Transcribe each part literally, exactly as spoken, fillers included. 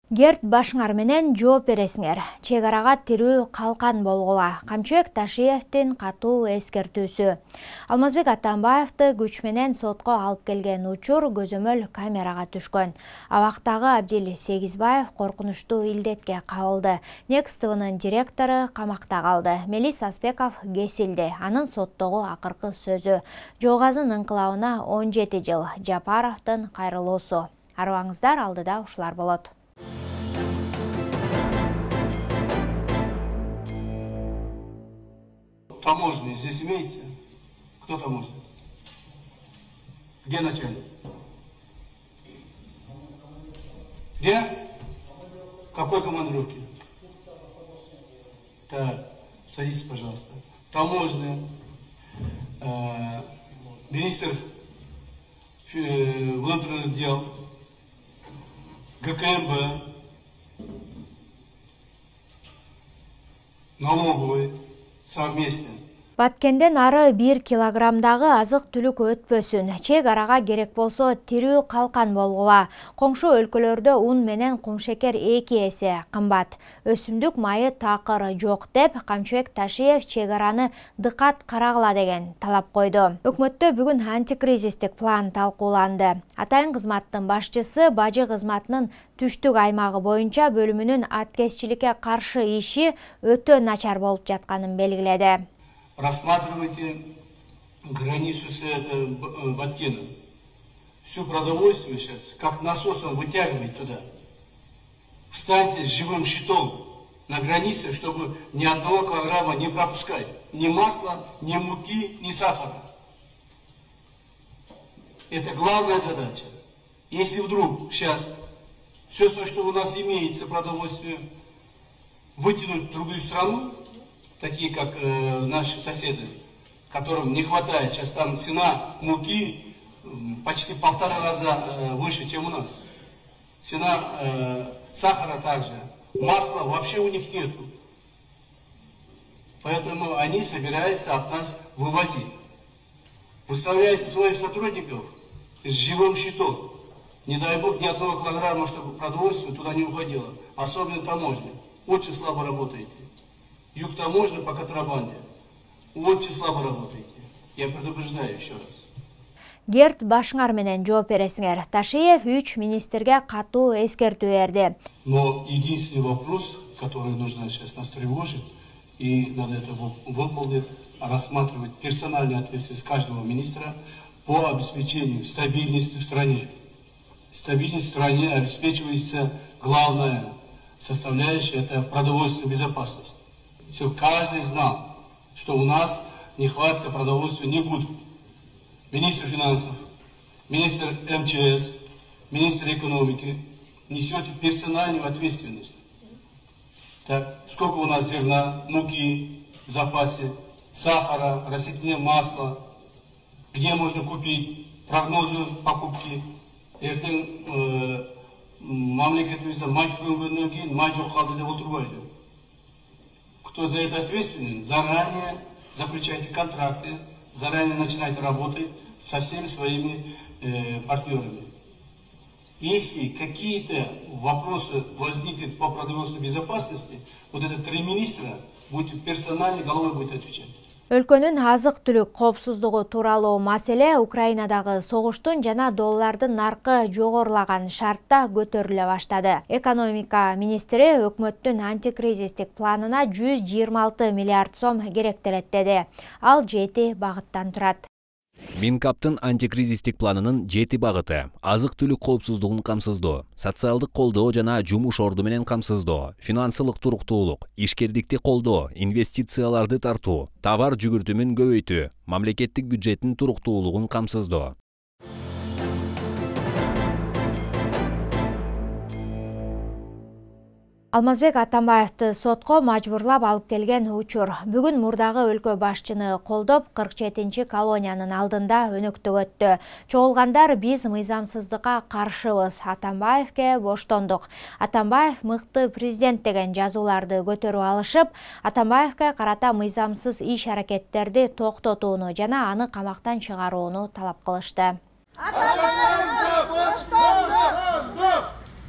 Герт Башыңар менен жооп бересиңер. Чек арага тирүү калкан болгула. Камчыбек Ташиевдин катуу эскертүүсү. Алмазбек Атамбаевди күч менен сотко алып келген учур көзөмөл камерага түшкөн. Абактагы Абдил Сегизбаев коркунучтуу илдетке кабылды. Next T V'нын директору камакта калды. Мелис Аспеков кесилди. Анын соттогу акыркы сөзү. Жоогазын инкылабына он жети жыл. Жапаровдун кайрылуусу. Арыбаңыздар, алдыда ушулар болот. Таможня здесь имеется? Кто таможня? Где начальник? Где? Какой командировки? Так, садитесь, пожалуйста. Таможня, э, министр э, внутренних дел, ГКМБ, налоговый, совместно. Баткенден ары бир килограммдагы азык түлүк өтпөсүн. Чек арага керек болсо тирүү калкан болгула. Коңшу өлкөлөрдө ун менен кумшекер эки эсе кымбат. Өсүмдүк майы такыр жок деп Камчыбек Ташиев чек араны дыкат карагыла деген талап койду. Өкмөттө бүгүн антикризистик план талкууланды. Атайын кызматтын башчысы бажы кызматынын түштүк аймагы боюнча бөлүмүнүн аткезчиликке каршы иши өтө начар болуп жатканын белгиледи. Рассматривайте границу с Баткеном. Всю продовольствие сейчас, как насосом вытягивать туда. Встаньте с живым щитом на границе, чтобы ни одного килограмма не пропускать. Ни масла, ни муки, ни сахара. Это главная задача. Если вдруг сейчас все, что у нас имеется продовольствие, вытянуть в другую страну, такие как э, наши соседи, которым не хватает. Сейчас там цена муки э, почти полтора раза э, выше, чем у нас. Цена э, сахара также. Масла вообще у них нету. Поэтому они собираются от нас вывозить. Выставляете своих сотрудников с живым щитом. Не дай бог ни одного килограмма, чтобы продовольствие туда не уходило. Особенно таможня. Очень слабо работаете. Юг таможни по контрабанде. Очень слабо работаете. Я предупреждаю еще раз. Герт Башыңар менен жооп бересиңер. Ташиев үч министрге катуу эскертүү берди. Но единственный вопрос, который нужно сейчас нас тревожить, и надо это выполнить, рассматривать персональную ответственность каждого министра по обеспечению стабильности в стране. Стабильность в стране обеспечивается главная составляющая, это продовольственная безопасность. Все, каждый знал, что у нас нехватка продовольствия не будет. Министр финансов, министр эм че эс, министр экономики несете персональную ответственность. Так, сколько у нас зерна, муки в запасе, сахара, растительное масло, где можно купить, прогнозы покупки. Это мамлекетимизде май түгөнгөндөн кийин май жок калды деп отурбайды. Кто за это ответственен, заранее заключайте контракты, заранее начинайте работать со всеми своими э, партнерами. Если какие-то вопросы возникнут по продовольственной безопасности, вот это три министра будет персонально головой будет отвечать. Өлкөнүн азык түлүк коопсуздугу тууралуу маселе Украинадагы согуштун жана доллардын наркы жогорулаган шартта көтөрүлө баштады. Экономика министри өкмөттүн антикризистик планына жүз жыйырма алты миллиард сом керектелет деди. Ал жети багыттан турат. Минкаптын антикризистик планынын жети багыты: азык түлүк коопсуздугун камсыздоо, социалдык колдоо жана жумуш орду менен камсыздоо, финансылык туруктуулук, ишкердикти колдоо, инвестицияларды тартуу, товар жүгүртүмүн көбөйтүү, мамлекеттик бюджеттин туруктуулугун камсыздоо. Алмазбек Атамбаевди сотко мажбурлап алып келген учур. Бүгүн мурдагы өлкө башчыны колдоп кырк жетинчи колониянын алдында өнөктүк өттү. Чогулгандар биз мыйзамсыздыкка каршыбыз, Атамбаевке боштондук. Атамбаев мыкты президент деген жазууларды көтөрүп алышып, Атамбаевке карата мыйзамсыз иш-аракеттерди токтотууну жана аны камактан чыгарууну талап кылышты. Атамбаевке боштондук!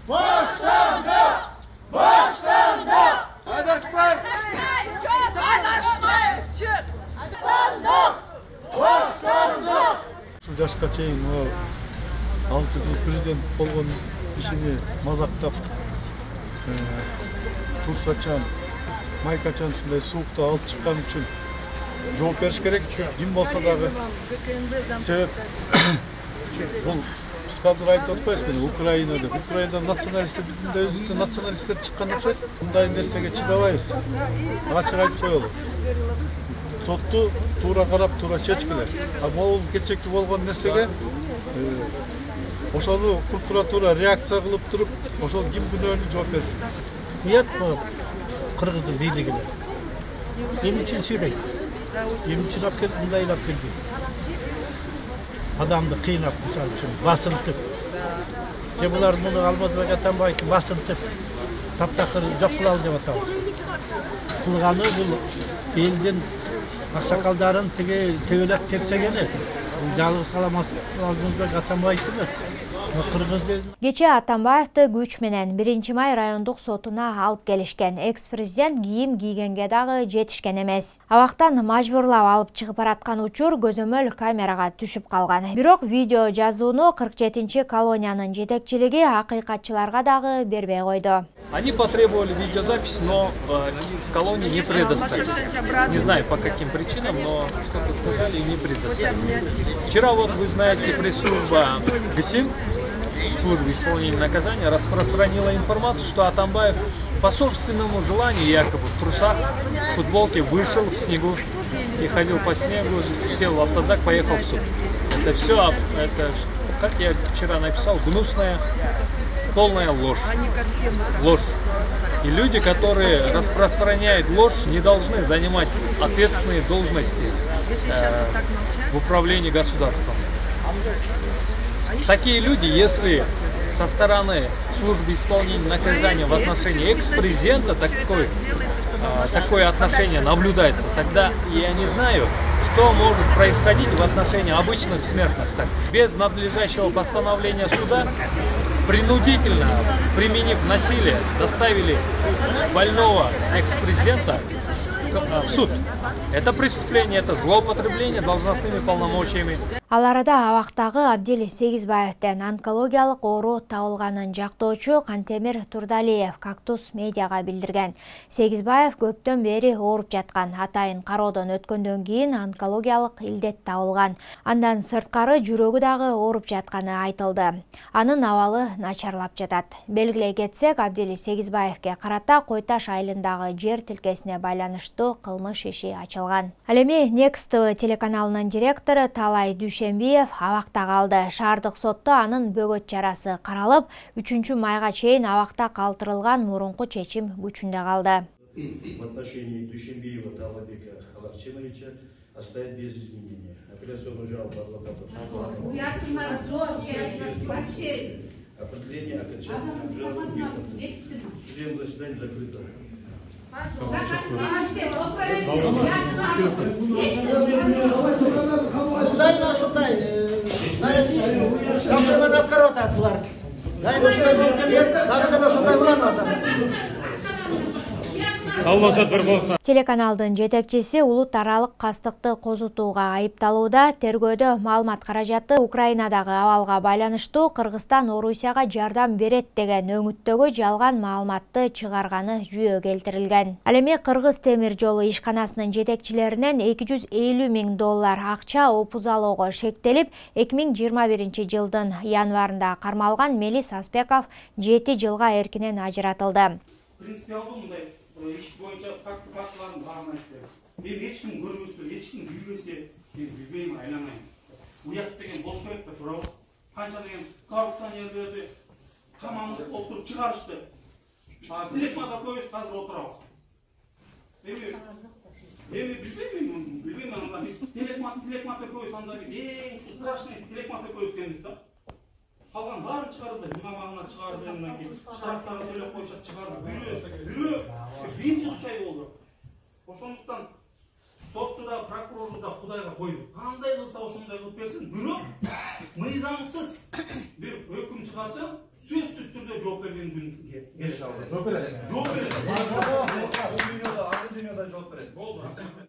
Боштондук! чейин алты жыл президент болгон кишини мазактап, турсачан, майкачан ушундай суукта алып чыккан үчүн жооп бериш керек. Ким болсо дагы. Себеп бул биз азыр айтып атпайбызбы, Украина деп. Украинада националисттер, биздин да өзүбүздөн националисттер чыккан окшойт. Мындай нерсеге чыдабайбыз. Ачык айтып коелу. Сотту туура карап, туура чечкиле. А могул кечеки болгон нерсеге ошону прокуратура реакция кылып туруп, ошол ким күнөөлүү жооп берсин. Уят бул кыргыздын бийлигине. Эмне үчүн сүйрөйт? Эмне үчүн алып келип мындайлап келди? Адамды кыйнап, мисалы үчүн басынтып. Же булар муну Алмазбек Атамбаевди басынтып, таптакыр жок кылалы деп атабыз. Кылганы бул элдин аксакалдарын тиги тебелеп тепсегени. Жалгыз Алмазбек Атамбаев эмес. Кечээ Атамбаевди күч менен биринчи май райондук сотуна алып келишкен. Экс-президент кийим кийгенге дагы жетишкен эмес. Абактан мажбурлап алып чыгып бараткан учур көзөмөл камерага түшүп калган. Бирок видео жазууну кырк жетинчи колониянын жетекчилиги акыйкатчыларга дагы бербей койду. Они потребовали видеозапись, но э, в колонии не предоставили. Не знаю по каким причинам, но что-то сказали и не предоставили. Вчера, вот вы знаете, пресс-служба ГСИН, службы исполнения наказания, распространила информацию, что Атамбаев по собственному желанию, якобы в трусах, в футболке, вышел в снегу и ходил по снегу, сел в автозак, поехал в суд. Это все, это, как я вчера написал, гнусная, полная ложь. Ложь. И люди, которые распространяют ложь, не должны занимать ответственные должности э, в управлении государством. Такие люди, если со стороны службы исполнения наказания в отношении экс-президента такой, э, такое отношение наблюдается, тогда я не знаю, что может происходить в отношении обычных смертных. Так, без надлежащего постановления суда, принудительно, применив насилие, доставили больного экс-президента в суд. Это преступление, это злоупотребление должностными полномочиями. Ал арада абактагы Абдил Сегизбаевден онкологиялык оору табылганын жактоочу Кантемир Турдалиев Кактус медиага билдирген. Сегизбаев көптөн бери ооруп жаткан, атайын кароодон өткөндөн кийин онкологиялык илдет табылган. Андан сырткары жүрөгү дагы ооруп жатканы айтылды. Анын абалы начарлап жатат. Белгилей кетсек, Абдил Сегизбаевге карата Кой Таш айылындагы жер тилкесине байланыштуу кылмыш иши ачылган. Ал эми Next телеканалынын директору Талай Дүйшенбиев абакта калды. Шаардык сотто анын бөгөт жарасы каралып, үчүнчү майга чейин абакта калтырылган мурунку чечим күчүндө калды. В отношении Дүйшенбиева Талабека Аларчиновича оставить без изменения. Апелляционную жалобу адвокатов. Определение окончательного жалобы. Судебное заседание закрыто. Дай ушундай саясий жакшымен аткарып атат булар. Дайым ушундай болуп келген, дагы деле ушундай уламаса. Телеканалдын жетекчиси улут аралык кастыкты козутууга айыпталууда. Тергөөдө маалымат каражаты Украинадагы абалга байланыштуу Кыргызстан Орусияга жардам берет деген өңүттөгү жалган маалыматты чыгарганы жүйө келтирилген. Ал эми Кыргыз темир жолу ишканасынын жетекчилеринен эки жүз элүү миң доллар акча опузалоого шектелип, эки миң жыйырма биринчи жылдын январында кармалган Мелис Аспеков жети жылга эркинен ажыратылды. Иш боюнча факт фактыларын баарын айтты. Мен эч ким көрбөсө, эч ким билбесе, мен билбейм, айланайм. Уят деген болуш керек да, туурабы? Канча деген коррупционерлерди каманып отуруп чыгарышты. А телекмада көбүс азыр отурабыз. Эми эми билбейм, билбейм анда биз телекмат телекматта көбүс анда биз эң ушу страшный телекматта көбүс экенбиз да. Калган баарын чыгарды, бинамагына чыгарды, андан кийин штрафтарды төлөп коюшат, чыгарды. Бирөө, бирөө бир жыл үч ай болду. Ошондуктан сотту да, прокурорду да Кудайга койду. Кандай кылса ошондой кылып берсин, бирок мыйзамсыз бир өкүм чыгарса, сөзсүз түрдө жооп берген күн келе алат. Жооп берет. Жооп берет. Бул дүйнөдө, ар дүйнөдө жооп берет. Болду.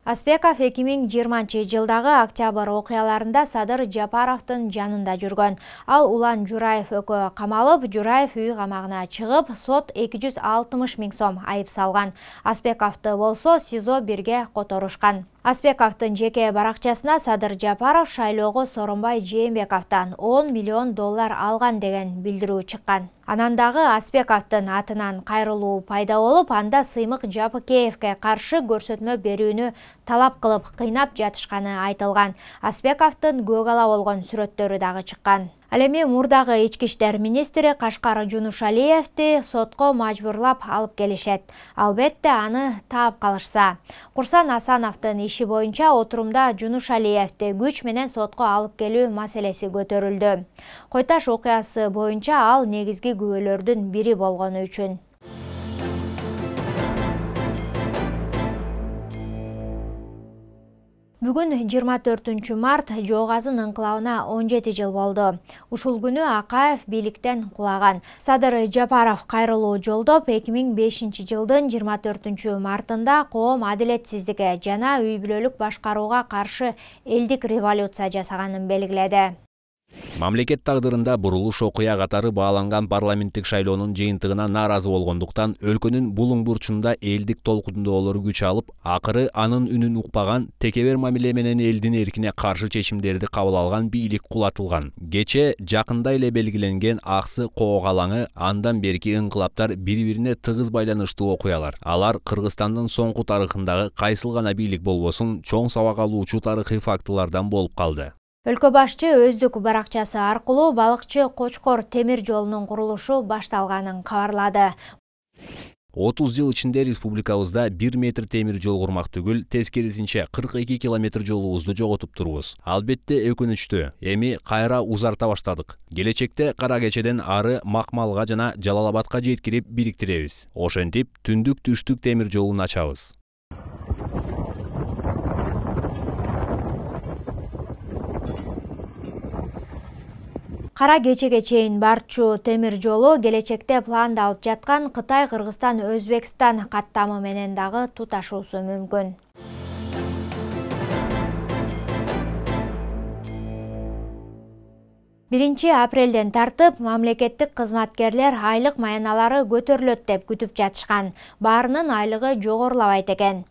Аспеков эки миң жыйырманчы жылдагы октябрь окуяларында Садыр Жапаровдун жанында жүргөн. Ал Улан Жураев экөө камалып, Жураев үй камагына чыгып, сот эки жүз алтымыш миң сом айып салган. Аспековду болсо СИЗО бирге которушкан. Аспековдун жеке баракчасына Садыр Жапаров шайлоого Сооронбай Жээнбековдон он миллион доллар алган деген билдирүү чыккан. Анан дагы Аспековдун атынан кайрылуу пайда болуп, анда Сыймык Жапыкеевге каршы көрсөтмө берүүнү талап кылып кыйнап жатышканы айтылган. Аспековдун көк ала болгон сүрөттөрү дагы чыккан. Ал эми мурдагы ички иштер министри Кашкар Жунушалиевди сотко мажбурлап алып келишет. Албетте аны таап калышса. Курсан Асановдун иши боюнча отурумда Жунушалиевди күч менен сотко алып келүү маселеси көтөрүлдү. Койташ окуясы боюнча ал негизги күбөлөрдүн бири болгону үчүн. Бүгүн жыйырма төртүнчү март Жоогазын ыңкылабына он жети жыл болду. Ушул күнү Акаев бийликтен кулаган. Садыр Жапаров кайрылуу жолдоп эки миң бешинчи жылдын жыйырма төртүнчү мартында коом адилетсиздикке жана үй бүлөлүк башкарууга каршы элдик революция жасаганын белгиледи. Мамлекет тагдырында бурулуш окуя катары бааланган парламенттик шайлоонун жыйынтыгына нааразы болгондуктан өлкөнүн булуң бурчунда элдик толкундоолор күч алып, акыры анын үнүн укпаган, текебер мамиле менен элдин эркине каршы чечимдерди кабыл алган бийлик кулатылган. Кече жакында эле белгиленген Аксы коок алаңы андан берки ыңкылаптар бири-бирине тыгыз байланыштуу окуялар. Алар Кыргызстандын соңку тарыхындагы кайсыл гана бийлик болбосун чоң сабак алуучу тарыхый фактылардан болуп калды. Өлкө башчы өздүк баракчасы аркылуу балыкчы Кочкор темир жолунун курулушу башталганын кабарлады. отуз жыл ичинде республикабызда бир метр темир жол курмак түгүл, тескерисинче кырк эки километр жолубузду жоготуп турбуз. Албетте өкүнүчтүү, эми кайра узарта баштадык. Келечекте Кара Кечеден ары Макмалга жана Жалал-Абадка жеткирип бириктиребиз. Ошентип түндүк түштүк темир жолун ачабыз. Кара Кечеге чейин барчу темир жолу келечекте пландалып жаткан Кытай, Кыргызстан, Өзбекстан каттамы менен дагы туташуусу мүмкүн. биринчи апрелден тартып мамлекеттик кызматкерлер айлык маяналары көтөрүлөт деп күтүп жатышкан. Баарынын айлыгы жогорулабайт экен.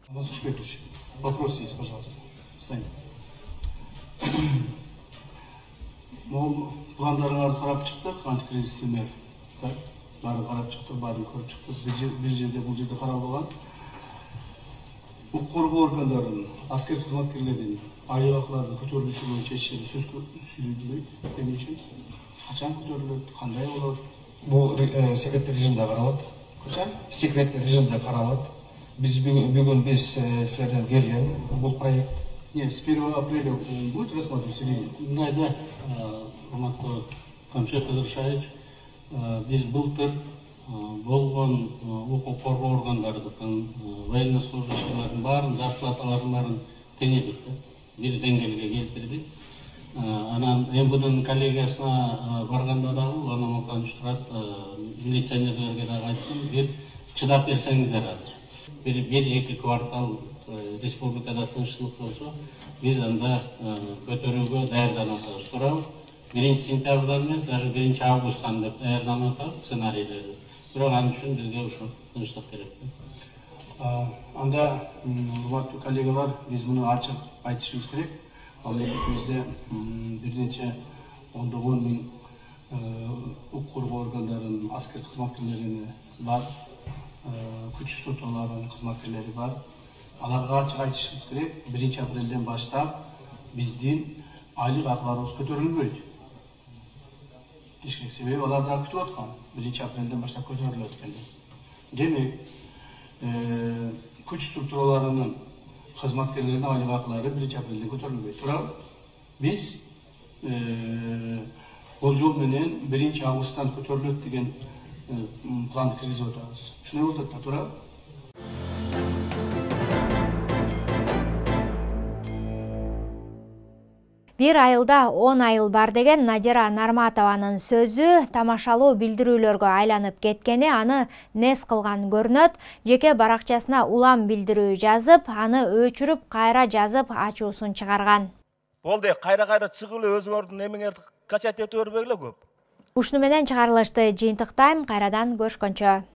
Вопрос есть, пожалуйста. Пландарыңарды карап чыктык, антикризистемер. Баарын карап чыктык, баарын көрүп чыктык. Бир жерде бул жерде каралган. Укук коргоо органдарынын, аскер кызматкерлердин айлык акыларын көтөрүлүшү боюнча чечим сөз сүйлөдүлбөйт. Эмне үчүн? Качан көтөрүлөт, кандай болот? Бул секреттик режимде каралат. Качан? Секреттик режимде каралат. Биз бүгүн биз силерден келген бул проект. Нет, с первого апреля будет рассматриваться или нет? Да, да. Урматтуу Камшат Кадыршаевич, биз былтыр болгон укук коргоо органдарынын военнослужащийлердин баарын зарплаталарын баарын теңедик, бир деңгээлге келтирдик. Анан МВДнын коллегиясына барганда дагы Лана Муканович турат, милиционерлерге дагы айттым, бир чыдап берсеңиздер азыр. Бир эки квартал республикада тынччылык болсо, биз анда көтөрүүгө даярданып атабыз. Туурабы? биринчи сентябрдан эмес, даже биринчи августтан деп даярданып атабыз сценарийлерди. Бирок ал үчүн бизге ушул тынчтык керек. Анда, урматтуу коллегалар, биз муну ачык айтышыбыз керек. Мамлекетибизде бир нече ондогон миң укук коргоо органдарынын аскер кызматкерлери бар, күч структураларынын кызматкерлери бар. Аларга ачык айтышыбыз керек. биринчи апрелден баштап биздин айлык акыларыбыз көтөрүлбөйт. Ишкек себеби алар да күтүп аткан. биринчи апрелден баштап көтөрүлөт экен. Демек, күч структураларынын кызматкерлеринин айлык акылары биринчи апрелден көтөрүлбөйт. Туурабы? Биз бул жол менен биринчи августтан көтөрүлөт деген планды киргизип атабыз. Ушуну болуп атат, туурабы? Бир айылда он айыл бар деген Надира Нарматованын сөзү тамашалуу билдирүүлөргө айланып кеткени аны нес кылган көрүнөт. Жеке баракчасына улам билдирүү жазып, аны өчүрүп кайра жазып ачуусун чыгарган. Болду, кайра-кайра чыгып эле өзүңөрдүн эмеңерди качат этип бербегиле көп. Ушуну менен чыгарылышты жыйынтыктайм, кайрадан көрүшкөнчө.